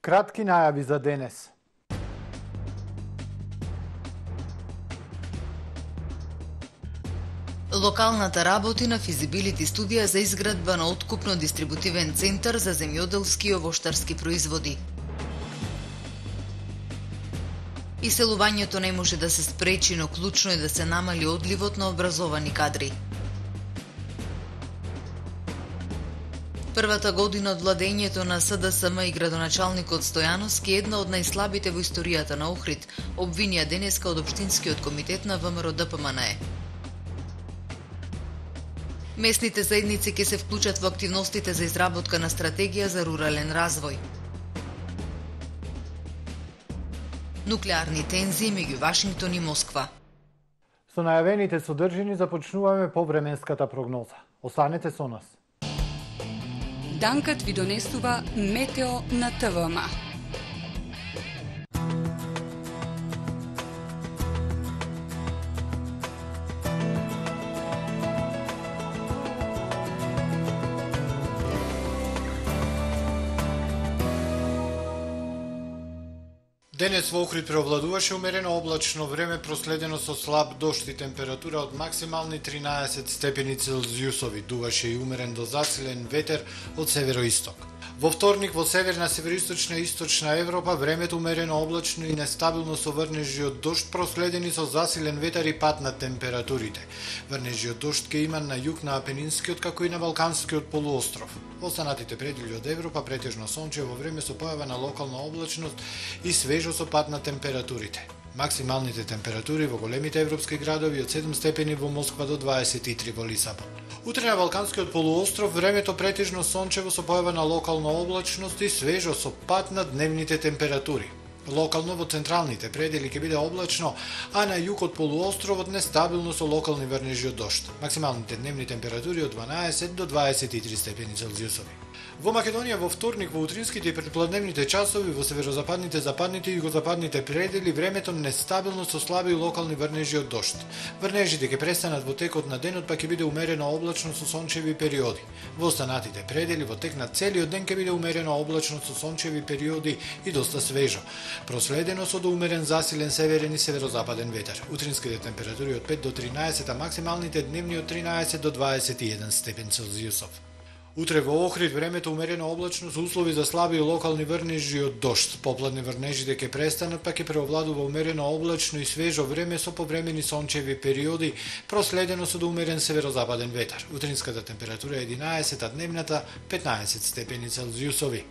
Кратки најави за денес. Локалната работи на физибилити студија за изградба на откупно-дистрибутивен центар за земјоделски и овоштарски производи. Иселувањето не може да се спречи, но клучно е да се намали одливот на образовани кадри. Првата година од владењето на СДСМ и градоначалникот Стојановски, една од најслабите во историјата на Охрид, обвинија денеска од Општинскиот комитет на ВМРО ДПМНЕ. Местните заедници ќе се вклучат во активностите за изработка на стратегија за рурален развој. Нуклеарни тензии меѓу Вашингтон и Москва. Со најавените содржини започнуваме повременската прогноза. Останете со нас. Данкат ви донесува Метео на ТВМ. Денес во Охрид преовладуваше умерено облачно време проследено со слаб дожд и температура од максимални 13 степени Целзиусови. Дуваше и умерен до засилен ветер од североисток. Во вторник во северна, североисточна и источна Европа времето умерено облачно и нестабилно со врнежи од дожд проследени со засилен ветер и пад на температурите. Врнежи од дожд ке има на југ на Апенинскиот како и на Балканскиот полуостров. Во останатите предели од Европа претежно сончево време со појава на локална облачност и свежо со пад на температурите. Максималните температури во големите европски градови од 7 степени во Москва до 23 во Лисабон. Утре на Балканскиот полуостров времето претежно сончево со појава на локална облачност и свежо со пад на дневните температури. Локално во централните предели ќе биде облачно, а на југ од полуостровот нестабилно со локални врнежи од дожд. Максималните дневни температури од 12 до 23 степени Целзиусови. Во Македонија во вторник во утринските и предпладневните часови во северозападните, западните и југозападните предели времето нестабилно со слаби и локални врнежи од дожд. Врнежите ќе престанат во текот на денот, па ќе биде умерено облачно со сончеви периоди. Во останатите предели во тек на целиот ден ќе биде умерено облачно со сончеви периоди и доста свежо, проследено со доумерен засилен северен и северозападен ветер. Утринските температури од 5 до 13, а максималните дневни од 13 до 21 степен Целзиусов. Утре во Охрид времето умерено облачно со услови за слаби и локални врнежи од дожд. Попладне врнежите ќе престанат, па ќе преовладува умерено облачно и свежо време со повремени сончеви периоди, проследено со доумерен северозападен ветер. Утринската температура е 11, а дневната 15 степени Целзиусови.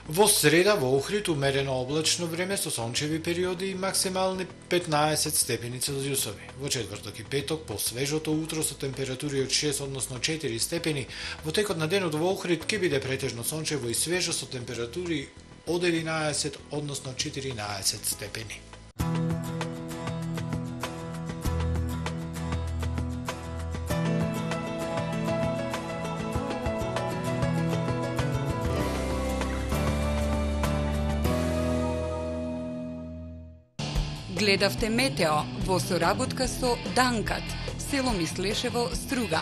Во среда во Охрид умерено облачно време со сончеви периоди и максимални 15 степени Целзиусови. Во четврток и петок по свежото утро со температури од 6 односно 4 степени, во текот на денот во Охрид ќе биде претежно сончево и свежо со температури од 11 односно 14 степени. Гледавте Метео во соработка со Данкат, село Мислешево, Струга.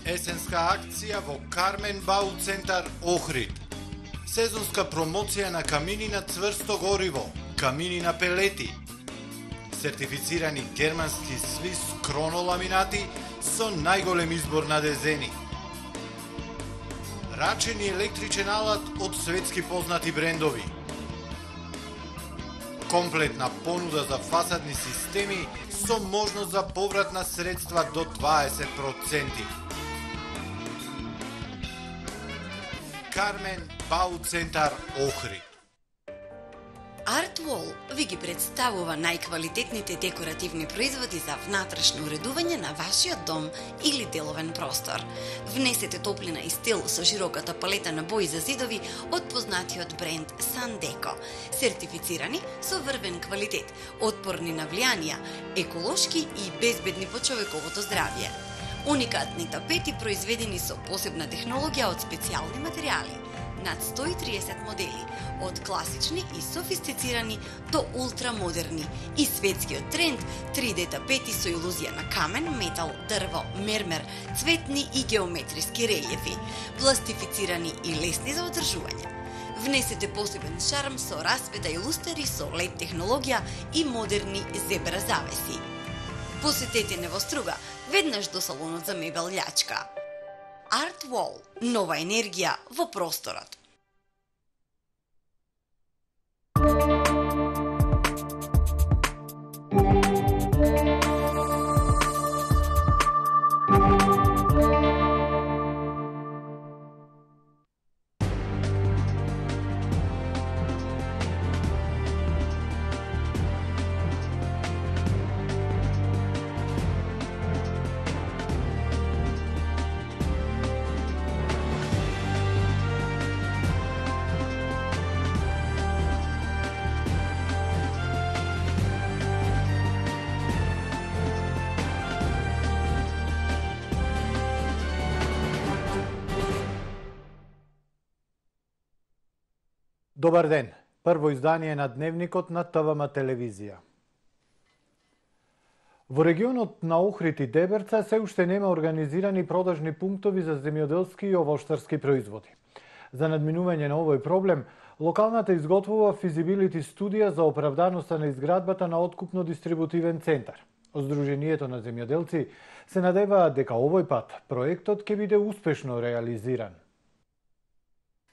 Есенска акција во Кармен Бау центар Охрид. Сезонска промоција на камини на цврсто гориво, камини на пелети, сертифицирани германски свис кроноламинати со најголем избор на дезени. Рачен и електричен алат од светски познати брендови. Комплетна понуда за фасадни системи со можност за поврат на средства до 20%. Кармен Бау центар Охрид. Артвол ви ги представува најквалитетните декоративни производи за внатрешно уредување на вашиот дом или деловен простор. Внесете топлина и стил со широката палета на бои за зидови од познатиот бренд Сандеко. Сертифицирани со врвен квалитет, отпорни на влијанија, еколошки и безбедни по човековото здравје. Уникатни тапети произведени со посебна технологија од специјални материјали. над 130 модели, од класични и софистицирани до ултрамодерни, и светскиот тренд 3D тапети со илузија на камен, метал, дрво, мермер, цветни и геометриски релјефи, пластифицирани и лесни за одржување. Внесете посебен шарм со расвета и лустери со LED технологија и модерни зебра завеси. Посетете Невоструга, веднаш до салонот за мебел Љачка. Art Wall – нова енергија во просторот. Добар ден. Прво издание на Дневникот на ТВМ телевизија. Во регионот на Охрид и Деберца се уште нема организирани продажни пунктови за земјоделски и овоштарски производи. За надминување на овој проблем, локалната изготвува физибилити студија за оправданоста на изградбата на откупно-дистрибутивен центар. Сдруженијето на земјоделци се надеваат дека овој пат проектот ќе биде успешно реализиран.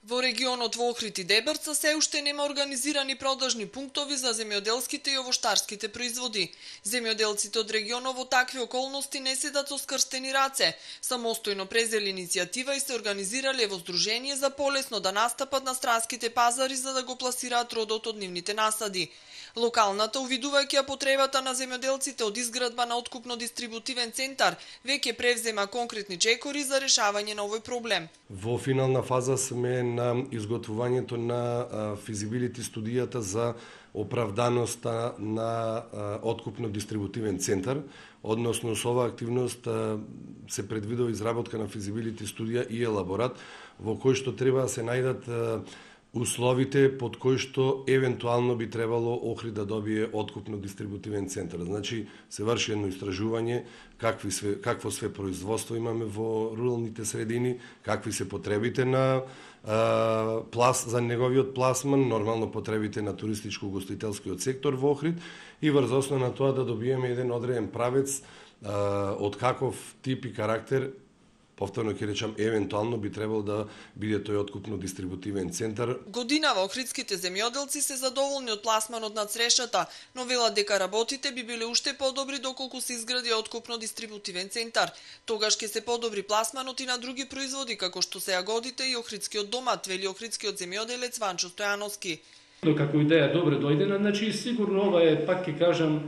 Во регионот во Охрид и Деберца се уште нема организирани продажни пунктови за земјоделските и овоштарските производи. Земјоделците од регионот во такви околности не седат со скрстени раце. Самостојно презели иницијатива и се организирале во здружение за полесно да настапат на странските пазари за да го пласираат родот од нивните насади. Локалната, увидувајќи ја потребата на земјоделците од изградба на откупно-дистрибутивен центар, веќе превзема конкретни чекори за решавање на овој проблем. Во финална фаза сме на изготвувањето на физибилити студијата за оправданоста на откупно-дистрибутивен центар, односно со оваа активност се предвидува изработка на физибилити студија и елаборат во кој што треба да се најдат условите под кои што евентуално би требало Охрид да добие откупно-дистрибутивен центар. Значи, се врши едно истражување какво све производство имаме во руралните средини, какви се потребите на за неговиот пласман, нормално потребите на туристичко-гостителскиот сектор во Охрид и врз основа на тоа да добиеме еден одреден правец од каков тип и карактер, повторно ќе речам, евентуално би требало да биде тој откупно-дистрибутивен центар. Годинава охридските земјоделци се задоволни од пласманот на црешата, но велат дека работите би биле уште подобри доколку се изгради откупно-дистрибутивен центар. Тогаш ќе се подобри пласманот и на други производи, како што се јагодите и охридскиот домат, вели охридскиот земјоделец Ванчо Стојановски. Но како идеја добре дојдена, значи сигурно ова е, пак ќе кажам,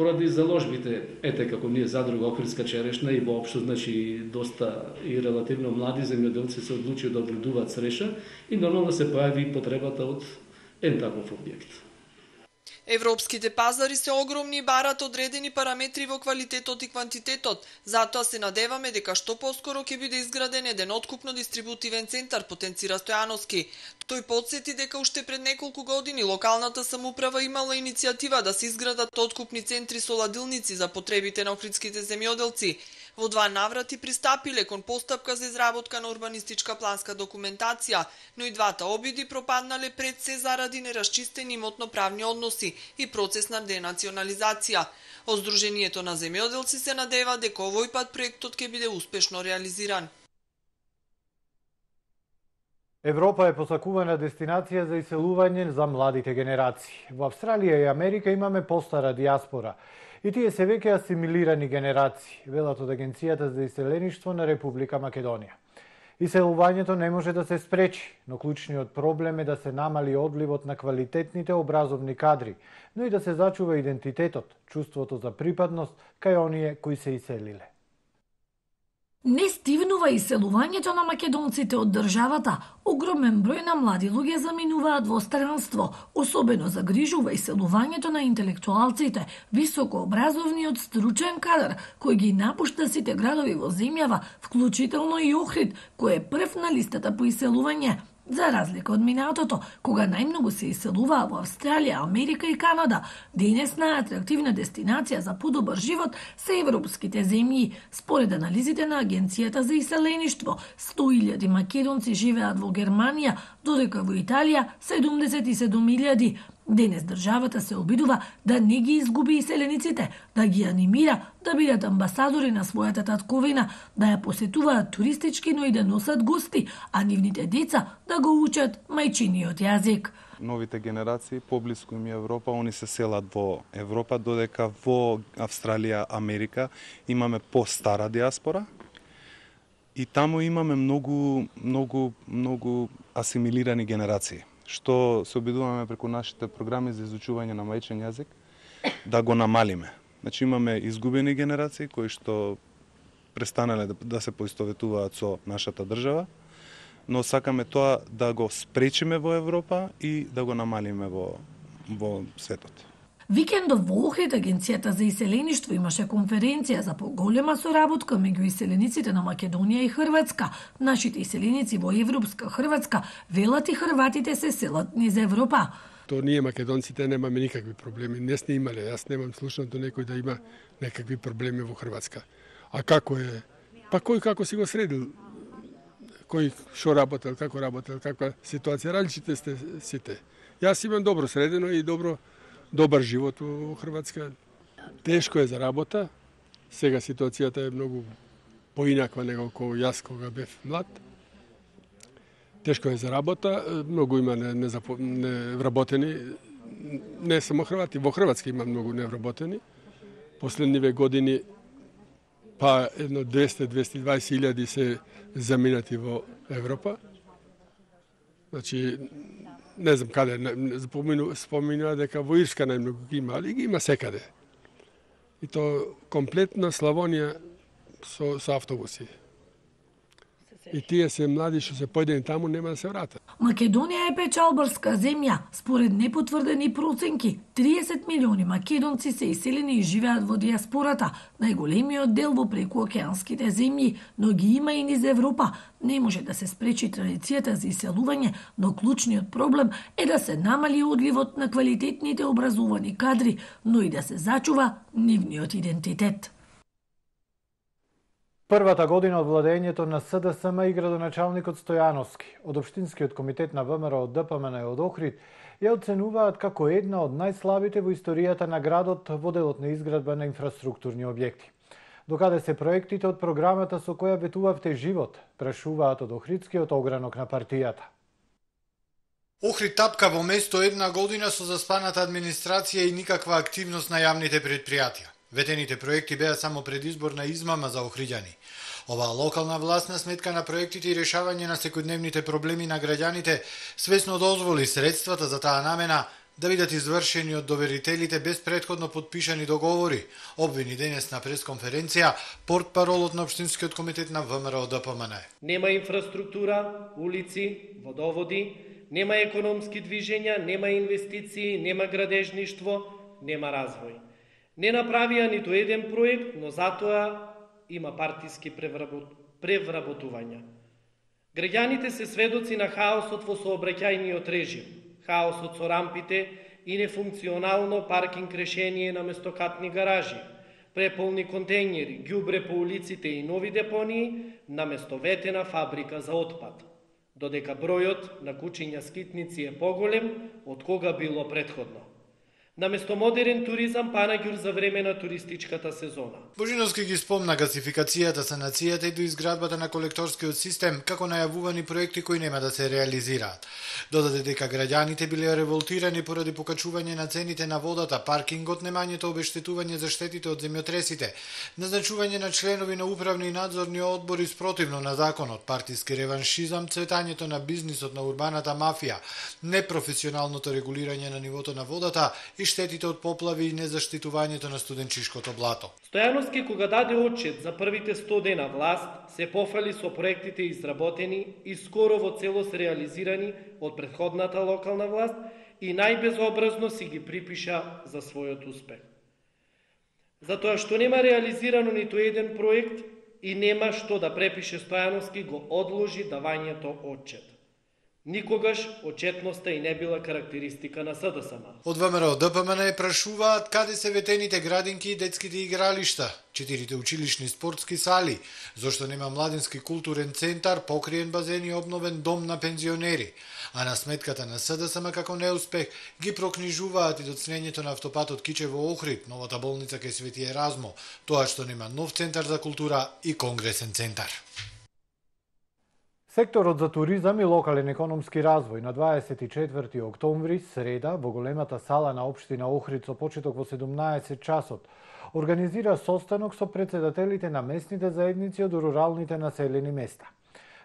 поради заложбите, ете како ние задруга Охридска черешна и воопшто, значи доста и релативно млади земјоделци се одлучија да обредуваат цреша и нормално се појави потребата од еден таков објект. Европските пазари се огромни и барат одредени параметри во квалитетот и квантитетот. Затоа се надеваме дека што поскоро ќе биде изграден еден откупно-дистрибутивен центар, потенцира Стојановски. Тој потсети дека уште пред неколку години локалната самоуправа имала иницијатива да се изградат откупни центри со ладилници за потребите на охридските земјоделци. Во два наврати пристапиле кон постапка за изработка на урбанистичка планска документација, но и двата обиди пропаднале пред се заради нерасчистени имотно-правни односи и процес на денационализација. Сдруженијето на земјоделци се надева дека овој пат проектот ќе биде успешно реализиран. Европа е посакувана дестинација за иселување за младите генерации. Во Австралија и Америка имаме постара диаспора и тие се веќе асимилирани генерации, велат од Агенцијата за иселеништво на Република Македонија. Иселувањето не може да се спречи, но клучниот проблем е да се намали одливот на квалитетните образовни кадри, но и да се зачува идентитетот, чувството за припадност кај оние кои се иселиле. Не стивнува иселувањето на македонците од државата. Огромен број на млади луѓе заминуваат во странство. Особено загрижува иселувањето на интелектуалците, високообразовниот стручен кадар, кој ги напушта сите градови во земјава, вклучително и Охрид, кој е прв на листата по иселување. За разлика од минатото, кога најмногу се иселуваа во Австралија, Америка и Канада, денес најатрактивна дестинација за подобар живот се европските земји. Според анализите на Агенцијата за иселеништво, 100.000 македонци живеат во Германија, додека во Италија 77.000. Денес државата се обидува да не ги изгуби иселениците, да ги анимира да бидат амбасадори на својата татковина, да ја посетуваат туристички, но и да носат гости, а нивните деца да го учат мајчиниот јазик. Новите генерации поблиску им Европа, они се селат во Европа, додека во Австралија, Америка имаме постара диаспора и таму имаме многу асимилирани генерации, што се обидуваме преку нашите програми за изучување на мајчин јазик да го намалиме. Значи имаме изгубени генерации кои што престанале да се поистоветуваат со нашата држава, но сакаме тоа да го спречиме во Европа и да го намалиме во светот. Викендов во Охрид Агенцијата за иселеништво имаше конференција за поголема соработка меѓу иселениците на Македонија и Хрватска. Нашите иселеници во европска Хрватска велат и хрватите се селат низ Европа. То ние македонците немаме никакви проблеми. Не сме имале, јас немам слушнато некој да има некакви проблеми во Хрватска. А како е? Па кој како си го средил? Кој шо работел, каква ситуација, различите сте сите. Јас имам добро средено и добар живот во Хрватска. Тешко е за работа. Сега ситуацијата е многу поинаква него кога јас кога бев млад. Тешко е за работа, многу има невработени, не само Хрвати, во Хрватска има многу невработени. Последниве години па едно 200-220 се заминати во Европа. Значи, не знам каде, споминува дека во Ирска најмногу ги има, али ги има секаде. И то комплетна Славонија со автобуси. И тие се млади што се појдени таму нема да се вратат. Македонија е печалбарска земја. Според непотврдени проценки, 30 милиони македонци се иселени и живеат во диаспората, најголемиот дел во прекуокеанските земји, но ги има и низ Европа. Не може да се спречи традицијата за иселување, но клучниот проблем е да се намали одливот на квалитетните образовани кадри, но и да се зачува нивниот идентитет. Првата година од владењето на СДСМ и градоначалникот Стојановски од Општинскиот комитет на ВМРО од ДПМН и од Охрид ја оценуваат како една од најслабите во историјата на градот во делот на изградба на инфраструктурни објекти. Докаде се проектите од програмата со која ветувавте живот, прашуваат од Охридскиот огранок на партијата. Охрид тапка во место една година со заспаната администрација и никаква активност на јавните предпријатија. Ветените проекти беа само предизборна измама за охриѓани. Оваа локална власт на сметка на проектите и решавање на секојдневните проблеми на граѓаните свесно дозволи средствата за таа намена да бидат извршени од доверителите без претходно подпишани договори, обвини денес на пресконференција портпаролот на Општинскиот комитет на ВМРО ДПМН. Нема инфраструктура, улици, водоводи, нема економски движења, нема инвестиции, нема градежништво, нема развој. Не направија ниту еден проект, но затоа има партиски превработувања. Граѓаните се сведоци на хаосот во сообраќајниот режим, хаосот со рампите и нефункционално паркинг решение на местокатни гаражи, преполни контејнери, ѓубре по улиците и нови депонии наместо ветена фабрика за отпад, додека бројот на кучиња скитници е поголем од кога било претходно. Наместо модерен туризам, панаѓур за време на туристичката сезона. Божиновски ги спомна гасификацијата, санацијата и доизградбата на колекторскиот систем како најавувани проекти кои нема да се реализираат. Додаде дека граѓаните биле револтирани поради покачување на цените на водата, паркингот, немањето обештетување за штетите од земјотресите, назначување на членови на управни и надзорни одбори спротивно на законот, партиски реваншизам, цветањето на бизнисот на урбаната мафија, непрофесионалното регулирање на нивото на водата и штетите од поплави и незаштитувањето на студенчишкото блато. Стојановски, кога даде отчет за првите 100 дена власт, се пофали со проектите изработени и скоро во целост реализирани од претходната локална власт и најбезобразно си ги припиша за својот успех. Затоа што нема реализирано ниту еден проект и нема што да препише Стојановски, го одложи давањето отчет. Никогаш отчетноста и не била карактеристика на СДСМ. Од ВМРО ДПМН прашуваат каде се ветените градинки и детските игралишта, 4 училишни спортски сали, зошто нема младински културен центар, покриен базен и обновен дом на пензионери. А на сметката на СДСМ како неуспех ги прокнижуваат и доцнењето на автопатот Кичево-Охрид, новата болница кај Свети Еразмо, тоа што нема нов центар за култура и конгресен центар. Секторот за туризам и локален економски развој на 24 октомври, среда, во големата сала на општина Охрид со почеток во 17 часот, организира состанок со претседателите на местните заедници од руралните населени места.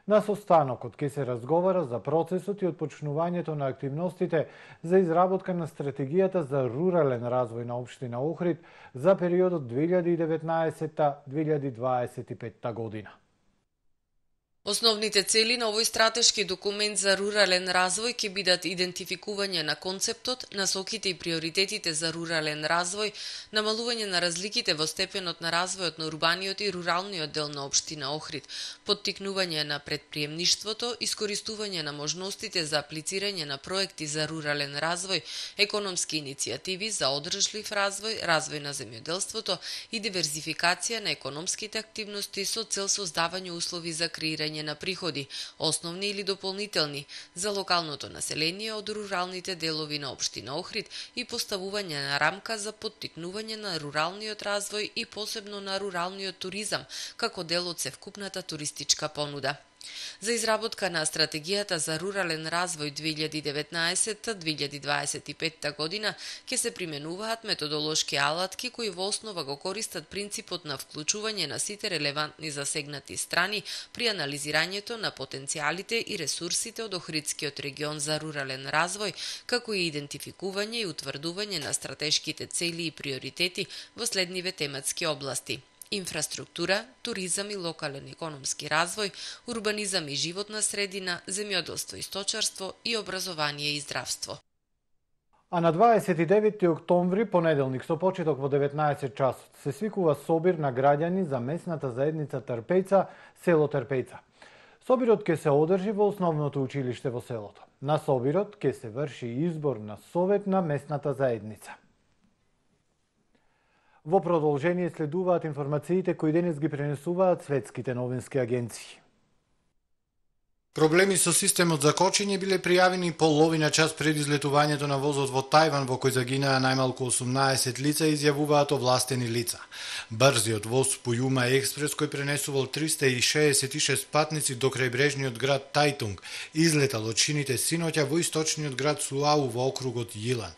На состанокот ќе се разговара за процесот и отпочнувањето на активностите за изработка на стратегијата за рурален развој на општина Охрид за периодот 2019-2025 година. Основните цели на овој стратешки документ за рурален развој ќе бидат идентификување на концептот, насоките и приоритетите за рурален развој, намалување на разликите во степенот на развојот на урбаниот и руралниот дел на општина Охрид, поттикнување на претприемништвото, искористување на можностите за аплицирање на проекти за рурален развој, економски иницијативи за одржлив развој, развој на земјоделството и диверзификација на економските активности со цел создавање услови за креирање на приходи, основни или дополнителни, за локалното население од руралните делови на општина Охрид и поставување на рамка за поттикнување на руралниот развој и посебно на руралниот туризам, како дел од севкупната туристичка понуда. За изработка на стратегијата за рурален развој 2019-2025 година ќе се применуваат методолошки алатки кои во основа го користат принципот на вклучување на сите релевантни засегнати страни при анализирањето на потенцијалите и ресурсите од Охридскиот регион за рурален развој, како и идентификување и утврдување на стратешките цели и приоритети во следниве тематски области: инфраструктура, туризам и локален економски развој, урбанизам и животна средина, земјоделство и сточарство и образование и здравство. А на 29 октомври, понеделник, со почеток во 19 часот, се свикува собир на граѓани за местната заедница Трпејца, село Трпејца. Собирот ќе се одржи во основното училиште во селото. На собирот ќе се врши избор на совет на местната заедница. Во продолжение следуваат информациите кои денес ги пренесуваат светските новински агенции. Проблеми со системот за кочење биле пријавени половина час пред излетувањето на возот во Тајван, во кој загинаа најмалку 18 лица, изјавуваат овластени лица. Брзиот воз Пујума Експрес, кој пренесувал 366 патници до крајбрежниот град Тајтунг, излетал од шините синоќа во источниот град Суау во округот Јилан.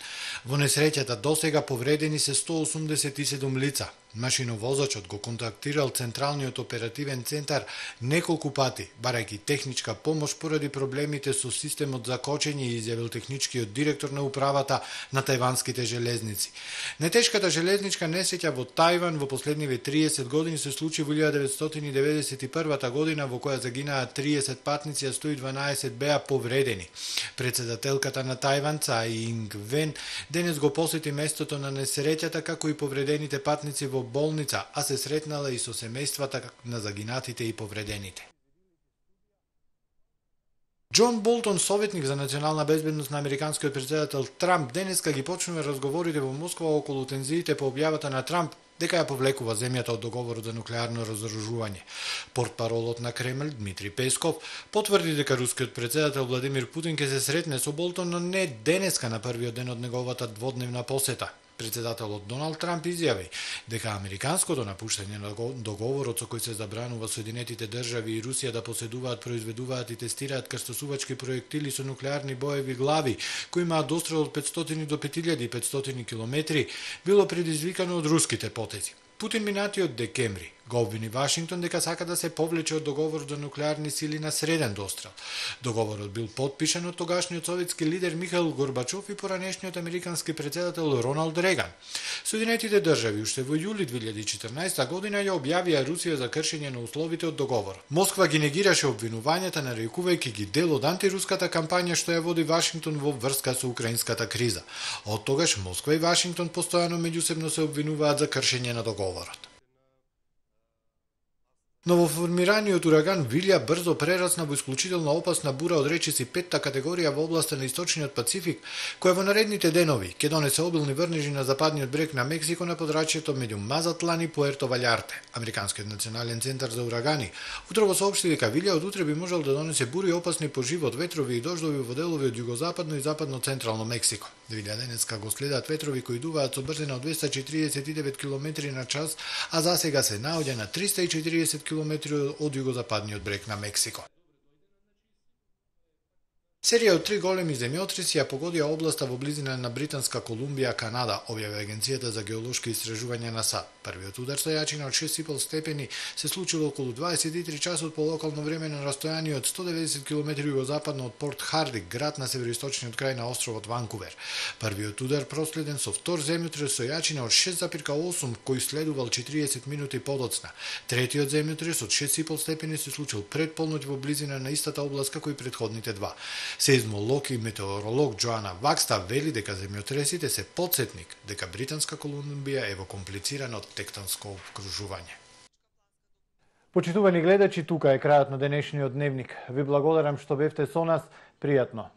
Во несреќата досега повредени се 187 лица. Машиновозачот го контактирал Централниот оперативен центар неколку пати, барајќи техничка помош поради проблемите со системот за кочење, изјавил техничкиот директор на управата на тајванските железници. Нетешката железничка несреќа во Тајван во последниве 30 години се случи во 1991 година, во која загинаа 30 патници, а 112 беа повредени. Председателката на Тајван, Цај Инг Вен, денес го посети местото на несреќата, како и повредените патници во болница, а се сретнала и со семејствата на загинатите и повредените. Џон Болтон, советник за национална безбедност на американскиот претседател Трамп, денеска ги почнува разговорите во Москва околу тензиите по објавата на Трамп дека ја повлекува земјата од договорот за нуклеарно разоружување. Портпаролот на Кремљ Дмитрий Песков потврди дека рускиот претседател Владимир Путин ќе се сретне со Болтон, но не денеска на првиот ден од неговата дводневна посета. Председателот Доналд Трамп изјави дека американското напуштање на договорот со кој се забранува Соединетите држави и Русија да поседуваат, произведуваат и тестираат крстосувачки проектили со нуклеарни боеви глави, кои имаат дострел од 500 до 5500 километри, било предизвикано од руските потези. Путин минатиот декември го обвини Вашингтон дека сака да се повлече од договорот за нуклеарни сили на среден дострел. Договорот бил подпишан од тогашниот советски лидер Михаил Горбачов и поранешниот американски претседател Роналд Реган. Соединетите држави уште во јули 2014 година ја објавија Русија за кршење на условите од договорот. Москва ги негираше обвинувањата, нарекувајќи ги дел од антируската кампања што ја води Вашингтон во врска со украинската криза. Од тогаш Москва и Вашингтон постојано меѓусебно се обвинуваат за кршење на договорот. Новоформираниот ураган Вилја брзо прерасна во исклучително опасна бура од речиси 5-та категорија во областа на Источниот Пацифик, која во наредните денови ќе донесе обилни врнежи на западниот брег на Мексико на подрачјето меѓу Мазатлан и Пуерто Валјарте. Американскиот национален центар за урагани утрово соопшти дека Вилја од утре би можел да донесе бури опасни по живот, ветрови и дождови во делови од југозападно и западно-централно Мексико. Вилја денеска го следат ветрови кои дуваат со брзина од 249 км на час, а засега се наоѓа на 340 км од југозападниот брег на Мексико. Серија од 3 големи земјотреси ја погодија областа во близина на Британска Колумбија, Канада, објави Агенцијата за геолошки истражувања на САД. Првиот удар со јачина од 6,5 степени се случил околу 23 часот по локално време на растојание од 190 км југозападно од Порт Харди, град на североисточниот крај на островот Ванкувер. Првиот удар проследен со втор земјотрес со јачина од 6,8 кој следувал 40 минути подоцна. Третиот земјотрес од 6,5 степени се случил пред полноќ во близина на истата област како и претходните два. Сеизмолог и метеоролог Джоана Вакста вели дека земјотресите се потсетник дека Британска Колумбија е во комплицирано тектонско обкружување. Почитувани гледачи, тука е крајот на денешниот дневник. Ви благодарам што бевте со нас. Пријатно.